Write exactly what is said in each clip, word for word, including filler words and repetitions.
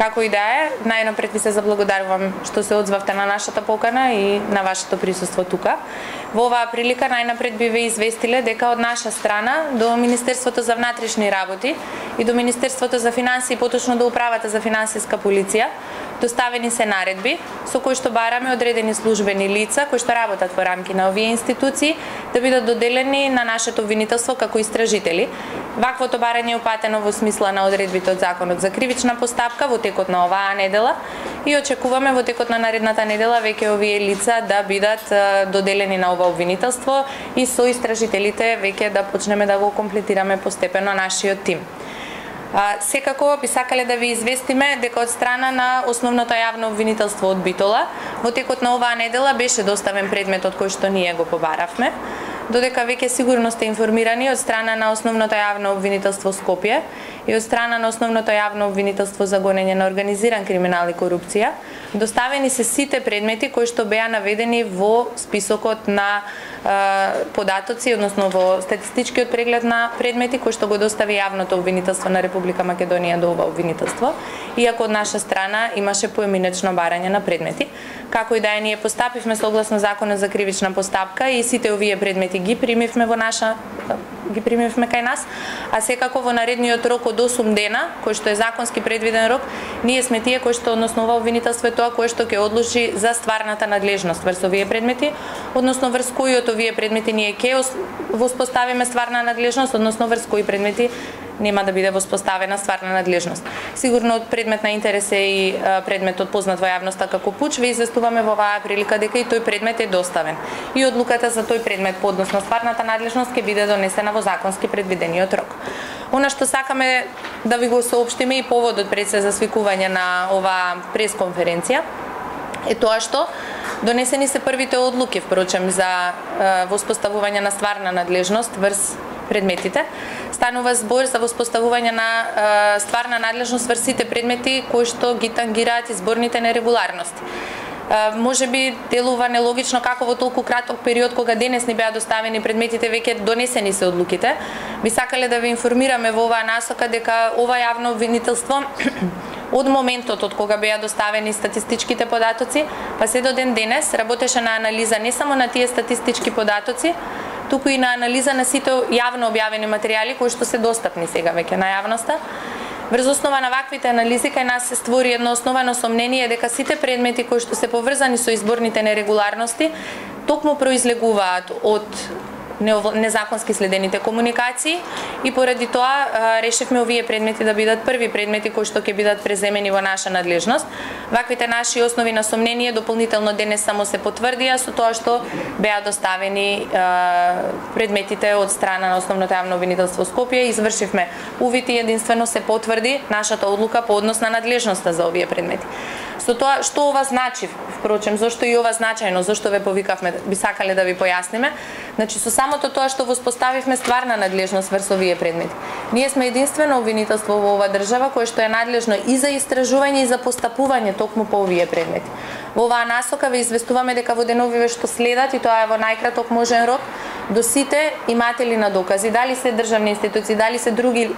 Како и да е, најнапред ви се заблагодарувам што се одзвавте на нашата покана и на вашето присуство тука. Во оваа прилика најнапред би ве известиле дека од наша страна до Министерството за внатрешни работи и до Министерството за финансии, поточно до Управата за финансиска полиција, доставени се наредби со кои што бараме одредени службени лица кои што работат во рамки на овие институции да бидат доделени на нашето обвинителство како истражители. Ваквото барање е упатено во смисла на одредбите од Законот за кривична постапка во текот на оваа недела и очекуваме во текот на наредната недела веќе овие лица да бидат доделени на ова обвинителство и со истражителите веќе да почнеме да го комплетираме постепено нашиот тим. А, секако би сакале да ви известиме дека од страна на основното јавно обвинителство од Битола во текот на оваа недела беше доставен предметот кој што ние го побаравме, додека веќе сигурно сте информирани од страна на основното јавно обвинителство Скопје и од страна на основното јавно обвинителство за гонење на организиран криминал и корупција, доставени се сите предмети кои што беа наведени во списокот на е, податоци, односно во статистичкиот преглед на предмети кои што го достави јавното обвинителство на Република Македонија до ова обвинителство, иако од наша страна имаше поеминечно барање на предмети. Како и да е, ние постапивме согласно Законот за кривична постапка и сите овие предмети ги примивме во наша ги примивме кај нас, а секако во наредниот рок од осум дена, кој што е законски предвиден рок, ние сме тие кои што односно ова обвинителство е тоа кое што ќе одлучи за стварната надлежност врз овие предмети, односно врз кои од овие предмети ние ќе воспоставиме стварна надлежност, односно врз кои предмети нема да биде воспоставена стварна надлежност. Сигурно од предмет на интерес е и предметот познат во јавноста како пуч, ве известуваме во оваа прилика дека и тој предмет е доставен. И одлуката за тој предмет по однос на стварната надлежност ќе биде донесена во законски предвидениот рок. Она што сакаме да ви го соопштиме и поводот пред се за свикување на оваа пресконференција е тоа што донесени се првите одлуки, впрочем, за е, воспоставување на стварна надлежност врз предметите. Станува збор за воспоставување на е, стварна надлежност врз сите предмети кои што ги тангираат изборните нерегуларности. Е, може би делува нелогично како во толку краток период кога денес ни беа доставени предметите веќе донесени се одлуките. Би сакале да ве информираме во оваа насока дека ова јавно обвинителство од моментот од кога беа доставени статистичките податоци, па се до ден денес работеше на анализа не само на тие статистички податоци, туку и на анализа на сите јавно објавени материјали кои што се достапни сега веќе на јавноста. Врз основа на ваквите анализи кај нас се створи едно основано сомнение дека сите предмети кои што се поврзани со изборните нерегуларности токму произлегуваат од незаконски следените комуникации и поради тоа решивме овие предмети да бидат први предмети кои што ќе бидат преземени во наша надлежност. Ваквите наши основи на сомнение дополнително денес само се потврдија со тоа што беа доставени предметите од страна на основното јавно обвинителство Скопје. Извршивме увид и единствено се потврди нашата одлука по однос на надлежноста за овие предмети. Со тоа што ова значи, впрочем, зошто и ова значајно, зошто ве повикавме, би сакале да ви појасниме. Значи со самото тоа што воспоставивме стварна надлежност врз овие предмети. Ние сме единствено обвинителство во оваа држава кое што е надлежно и за истражување и за постапување токму по овие предмети. Во оваа насока ве известуваме дека во деновиве што следат, и тоа е во најкраток можен рок, до сите иматели на докази, дали се државни институции, дали се други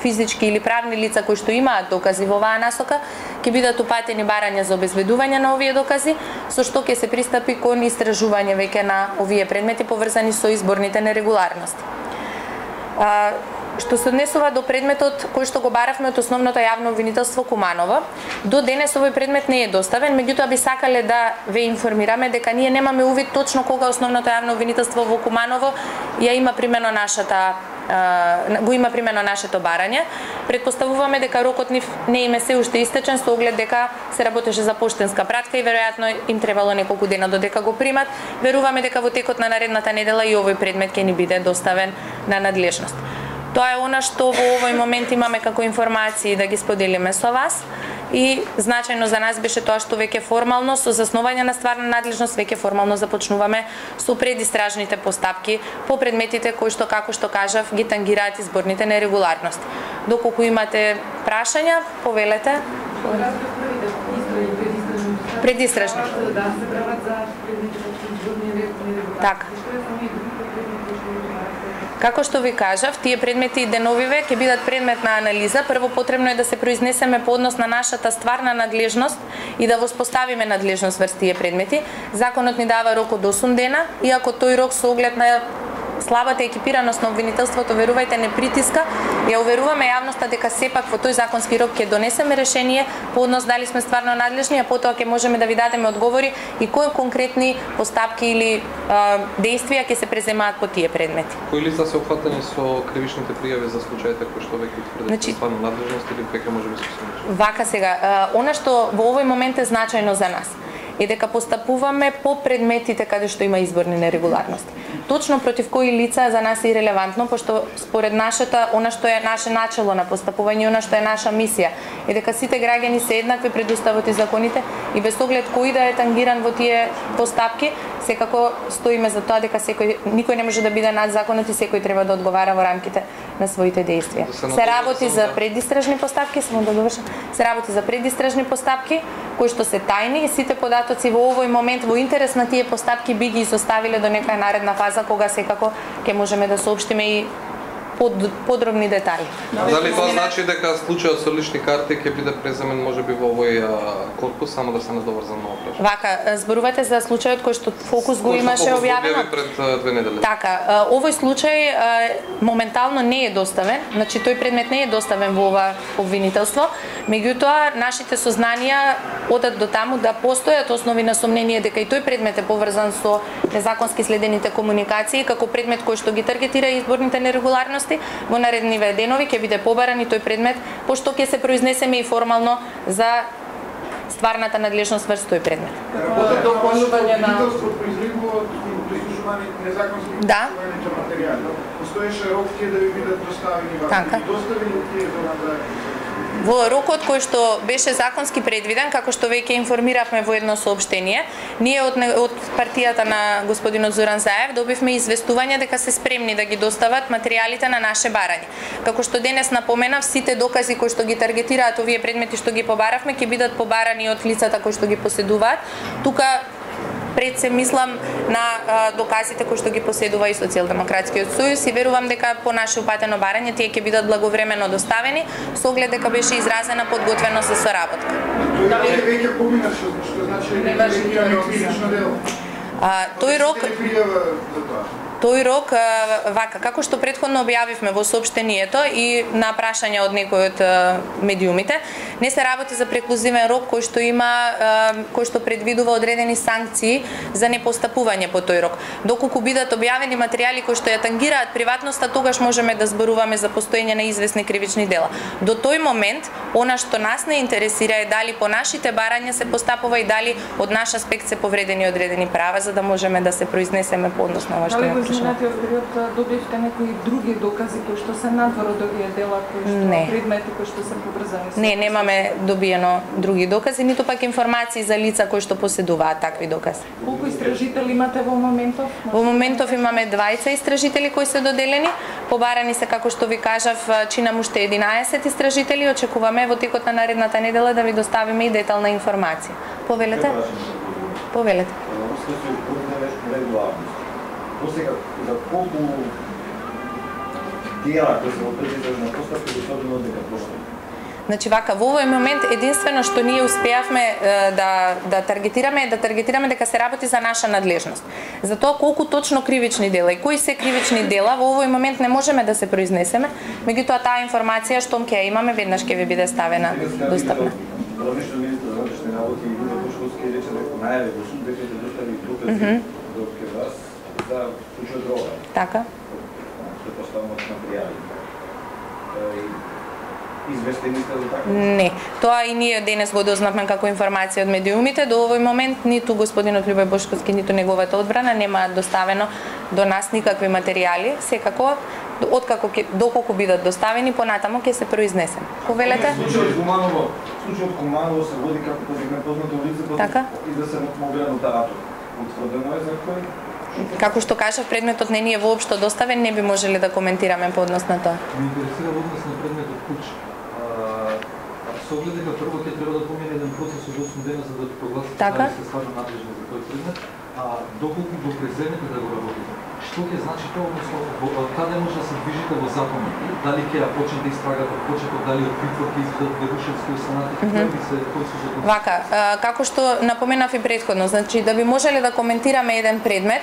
физички или правни лица кои што имаат докази во оваа насока, ќе бидат упатени барања за обезбедување на овие докази, со што ќе се пристапи кон истражување веќе на овие предмети поврзани со изборните нерегуларности. А, што се однесува до предметот кој што го баравме од основното јавно обвинителство Куманово, до денес овој предмет не е доставен, меѓутоа би сакале да ве информираме дека ние немаме увид точно кога основното јавно обвинителство во Куманово ја има примено нашата го има примено нашето барање. Предпоставуваме дека рокот нив не им е се уште истечен со оглед дека се работеше за поштенска пратка и веројатно им требало неколку дена додека го примат. Веруваме дека во текот на наредната недела и овој предмет ќе ни биде доставен на надлежност. Тоа е она што во овој момент имаме како информации да ги споделиме со вас. И значајно за нас беше тоа што веќе формално со заснување на стварна надлежност веќе формално започнуваме со предистражните постапки по предметите кои што, како што кажав, ги тангираат изборните нерегуларности. Доколку имате прашања, повелете. Предистражни. Како што ви кажав, тие предмети и деновиве ќе бидат предмет на анализа. Прво потребно е да се произнесеме по однос на нашата стварна надлежност и да воспоставиме надлежност врз тие предмети. Законот ни дава рок од осум дена, иако тој рок со оглед на слабата екипираност на обвинителството, верувајте, не притиска. Ја уверуваме јавноста дека сепак во тој законски рок ќе донесеме решение по однос дали сме стварно надлежни, а потоа ќе можеме да ви дадеме одговори и кои конкретни постапки или а, действија ќе се преземаат по тие предмети. Кои лица се опфатени со кривичните пријави за случаите кои што веќе утврдени значи, стварно надлежност или веќе може би се посведочи? Вака сега, а, она што во овој момент е значајно за нас е дека постапуваме по предметите каде што има изборни нерегуларности. Точно против кои лица за нас е ирелевантно, пошто според нашата, она што е наше начело на постапување, она што е наша мисија, е дека сите граѓани се еднакви пред уставот и законите и без оглед кој да е тангиран во тие постапки, секако стоиме за тоа дека секој никој не може да биде над законот и секој треба да одговара во рамките на своите действија. Се работи за предистражни постапки, само да довршам. Се работи за предистражни постапки кои што се тајни и сите податоци во овој момент во интерес на тие постапки би ги изоставиле до некоја наредна фаза кога секако ќе можеме да соопштиме и под, подробни детали. Дали тоа значи дека случајот со лични карти ќе биде преземен можеби во овој корпус, само да се надоврзам на опраш? Вака, зборувате за случајот кој што Фокус го имаше објавено пред две недели. Така, овој случај моментално не е доставен, значи тој предмет не е доставен во ова обвинителство, меѓутоа нашите сознанија одат до таму да постојат основи на сомнение дека и тој предмет е поврзан со незаконски следените комуникации како предмет кој што ги таргетира изборните нерегуларности. Во наредниве денови ќе биде побаран и тој предмет, пошто ќе се произнесеме и формално за стварната надлежност врз тој предмет. Дополнување на Да. Постоеше рок тие да ви бидат доставени вака. Така. Доставени тие до надзорници. Во рокот кој што беше законски предвиден, како што веќе информиравме во едно соопштение, ние од, од партијата на господинот Зоран Заев добивме известување дека се спремни да ги достават материјалите на наше барање. Како што денес напоменав, сите докази кои што ги таргетираат овие предмети што ги побаравме ќе бидат побарани од лицата кои што ги поседуваат. Тука пред се мислам на а, доказите кои што ги поседува и Социјалдемократскиот сојуз и верувам дека по наше упатено барање тие ќе бидат благовремено доставени со оглед дека беше изразена подготвеност за соработка. Дали веќе помина што значи не важи кривично дело? А, тој рок Тој рок, вака, како што претходно објавивме во соопштението и на прашање од некој од медиумите, не се работи за преклузивен рок кој што има, кој што предвидува одредени санкции за непостапување по тој рок. Доколку бидат објавени материјали кои што ја тангираат приватноста, тогаш можеме да зборуваме за постоење на известни кривични дела. До тој момент, она што нас не интересира е дали по нашите барања се постапува и дали од наш аспект се повредени одредени права, за да можеме да се произнесеме по однос на ова што ја изминатиот период добивте некои други докази кои што се надвор од овие дела, кои што не. предмети кои што се поврзани со... Не, немаме добиено други докази, ниту пак информации за лица кои што поседуваат такви докази. Колку истражители имате во моментов? Во моментов имаме двајца истражители кои се доделени, побарани се, како што ви кажав, чинам уште единаесет истражители, очекуваме во текот на наредната недела да ви доставиме и детална информација. Повелете? Повелете. Сега, за колку дела кои се во предизражна постапка особено дека постои? Значи вака, во овој момент единствено што ние успеавме да да таргетираме да таргетираме дека се работи за наша надлежност. За тоа колку точно кривични дела и кои се кривични дела во овој момент не можеме да се произнесеме, меѓутоа таа информација штом ќе ја имаме веднаш ќе ви биде ставена достапна. Главниот министер за внатрешни работи и Илија Бошковски рече дека најави во суд дека ќе достави докази до кај вас за случајот дрога. Така. Предпоставуваат материјали. Известени сте за така? Не. Тоа и ние денес го дознавме како информација од медиумите. До овој момент ниту господинот Љубој Бошковски, ниту неговата одбрана нема доставено до нас никакви материјали. Секако, откако ке, доколку бидат доставени, понатамо ќе се произнесем. Повелете? Случајот Куманово, случајот Куманово се води како повикне познато лице, така? И да се мобилен нотаратор. Утврдено е за кој? Како што кажав, предметот не ни е воопшто доставен, не би можеле да коментираме по однос на тоа. Ме интересира во однос на предметот куќ. Со оглед дека прво ќе треба да помине еден процес од осум дена за да прогласите така? дали сте стварно надлежни за тој предмет, а доколку го преземете да го работите? што ќе значи тоа, односно во- каде може да се движите во законот? Дали ќе ја почнете истрагата од почеток, дали од притвор ќе изведат Верушевски останати, кои би се кои се закони? Вака, а, како што напоменав и претходно, значи да би можеле да коментираме еден предмет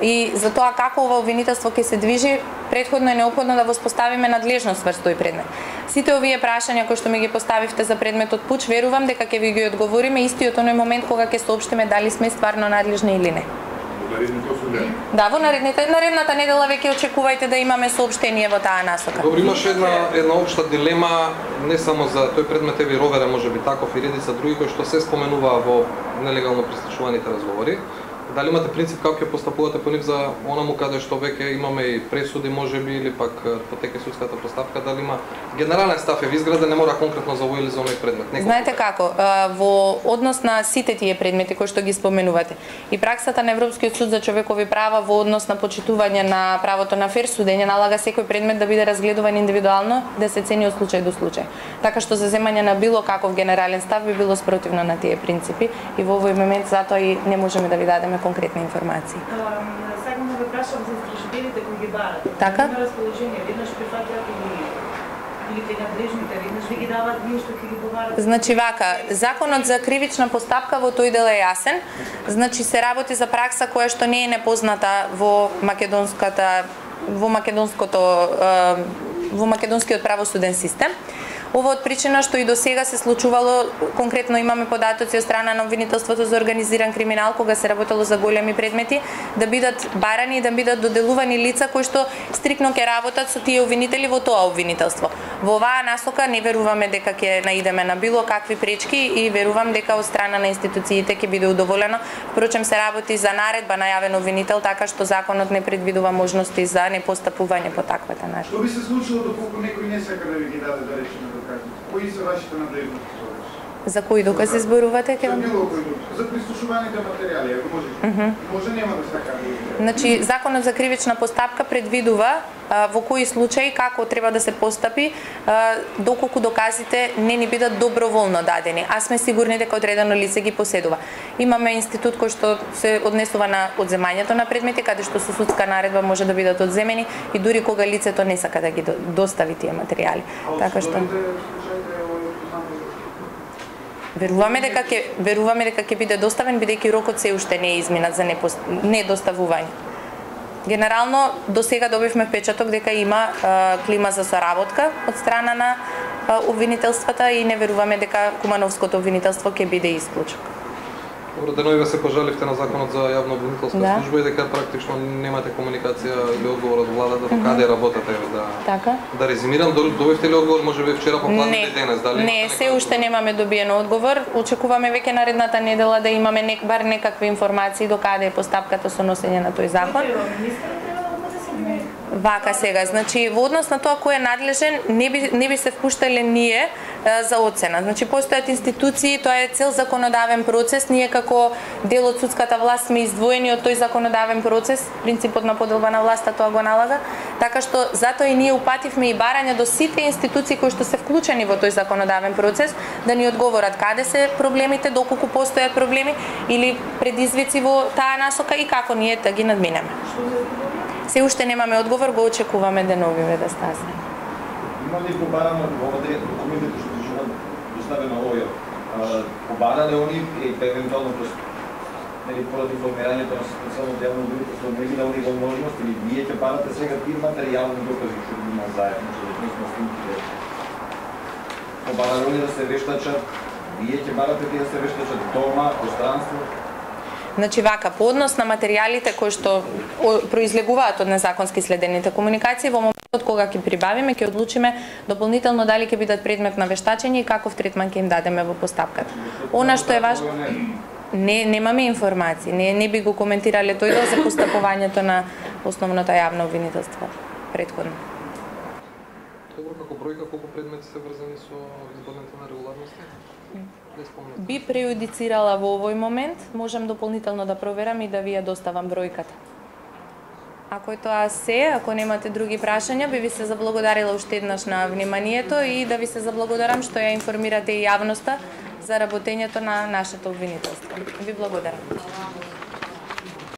и за тоа како ова обвинителство ќе се движи, претходно е неопходно да воспоставиме надлежност врз тој предмет. Сите овие прашања кои што ми ги поставивте за предметот Пуч, верувам дека ќе ви ги одговориме истиот оној момент кога ќе соопштиме дали сме стварно надлежни или не. Да, во наредните, наредната недела веќе очекувајте да имаме соопштение во таа насока. Добро, имаше една една општа дилема не само за тој предмет, еви Ровера можеби таков и редица други кои што се споменуваа во нелегално прислушуваните разговори. Дали имате принцип како ќе постапувате по нив за онаму каде што веќе имаме и пресуди можеби или пак потеке судската постапка, дали има генерален став е изграден, не мора конкретно за овој или за оној предмет. Неколку. Знаете како, а, во однос на сите тие предмети кои што ги споменувате и праксата на Европскиот суд за човекови права во однос на почитување на правото на фер судење налага секој предмет да биде разгледуван индивидуално, да се цени од случај до случај. Така што за земање на било каков генерален став би било спротивно на тие принципи и во овој момент затоа и не можеме да ви дадеме конкретни информации. Сакам да ве прашам за истражбелите кои ги барате. Така? На расположение, веднаш прифатат или или кај надлежните, веднаш ви ги дават вие што ќе ги побарате. Значи вака, законот за кривична постапка во тој дел е јасен. Значи се работи за пракса која што не е непозната во македонската во македонското во македонскиот правосуден систем. Ова од причина што и до сега се случувало, конкретно имаме податоци од страна на обвинителството за организиран криминал кога се работело за големи предмети, да бидат барани и да бидат доделувани лица кои што стрикно ќе работат со тие обвинители во тоа обвинителство. Во оваа насока не веруваме дека ќе наидеме на било какви пречки и верувам дека од страна на институциите ќе биде удоволено. Впрочем се работи за наредба на јавен обвинител, така што законот не предвидува можности за непостапување по таквата наредба. Што би се случило доколку некој не сака да ви ги даде да речеме докази? Кои се вашите надлежности? За кои докази зборувате? За било кои докази. За прислушуваните материјали, ако може. Mm -hmm. Може нема да сака да ви ги даде. Значи, законот за кривична постапка предвидува а, во кои случаи како треба да се постапи а, доколку доказите не ни бидат доброволно дадени, а сме сигурни дека одредено лице ги поседува. Имаме институт кој што се однесува на одземањето на предмети, каде што со судска наредба може да бидат одземени и дури кога лицето не сака да ги достави тие материјали. Така што Веруваме дека ќе веруваме дека ќе биде доставен бидејќи рокот се уште не е изминат за непост... недоставување. Генерално до сега добивме впечаток дека има а, клима за соработка од страна на а, обвинителствата и не веруваме дека Кумановското обвинителство ќе биде исклучок. Добро, денови се пожаливте на законот за јавно обвинителска Да. служба и дека практично немате комуникација или одговор од владата до каде работате, да. Така? Да резимирам, добивте ли одговор можеби вчера попладне или денес, дали? Не, се уште немаме добиено одговор. Очекуваме веќе наредната недела да имаме нек, бар некакви информации до каде е постапката со носење на тој закон. Вака сега, значи во однос на тоа кој е надлежен, не би не би се впуштале ние е, за оцена. Значи постојат институции, тоа е цел законодавен процес, ние како дел од судската власт сме издвоени од тој законодавен процес, принципот на поделба на власта тоа го налага, така што затоа и ние упативме и барање до сите институции кои што се вклучени во тој законодавен процес да ни одговорат каде се проблемите, доколку постојат проблеми или предизвици во таа насока и како ние да ги надминеме. Се уште немаме одговор, го очекуваме деновиве да стасне. Има ли побарано овде документите што ќе доставено овој? Побарале они и евентуално нели поради формирањето на специјално делно обвинителство, не ги дали возможност или вие ќе барате сега тие материјални докази што ги има заедно со да снимките. Побарале они да се вештачат, вие ќе барате тие да се вештачат дома, пространство. Значи вака, по однос на материјалите кои што произлегуваат од незаконски следените комуникации, во моментот кога ќе прибавиме, ќе одлучиме дополнително дали ќе бидат предмет на вештачење и каков третман ќе им дадеме во постапката. Она што е важно, не немаме информации, не не би го коментирале тој дел за постапувањето на основното јавно обвинителство претходно. Добро, како бројка колку предмети се врзани со изборните нерегуларности? Би преюдицирала во овој момент, можам дополнително да проверам и да ви ја доставам бројката. Ако е тоа се, ако немате други прашања, би ви се заблагодарила уште еднаш на вниманието и да ви се заблагодарам што ја информирате и јавноста за работењето на нашето обвинителство. Ви благодарам.